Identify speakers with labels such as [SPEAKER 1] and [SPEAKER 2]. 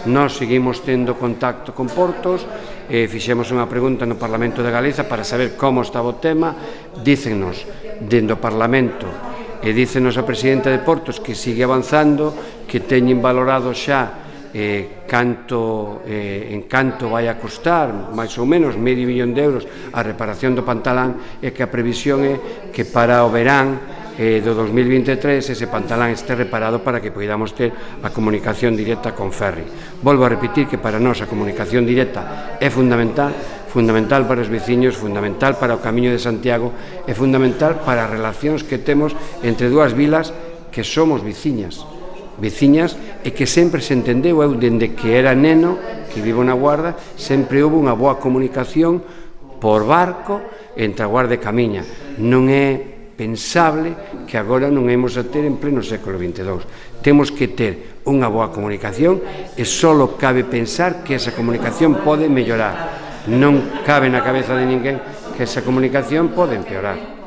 [SPEAKER 1] Nós seguimos tendo contacto con Portos, fixemos unha pregunta no Parlamento de Galiza para saber como estaba o tema. Dícennos dentro do Parlamento e dícenos a presidenta de Portos que sigue avanzando, que teñen valorado xa en canto vai a costar máis ou menos medio millón de euros a reparación do Pantalán, e que a previsión é que para o verán do 2023 ese Pantalán este reparado para que poidamos ter a comunicación directa con Ferri. Volvo a repetir que para nós a comunicación directa é fundamental para os veciños, fundamental para o Camiño de Santiago e fundamental para as relacións que temos entre dúas vilas que somos veciñas e que sempre se entendeu. Eu, dende que era neno, que vivo na Guarda, sempre houve unha boa comunicación por barco entre a Guarda e Camiña. Non é pensable que agora non imos a ter en pleno século XXII. Temos que ter unha boa comunicación e só cabe pensar que esa comunicación pode mellorar. Non cabe na cabeza de ninguén que esa comunicación pode empeorar.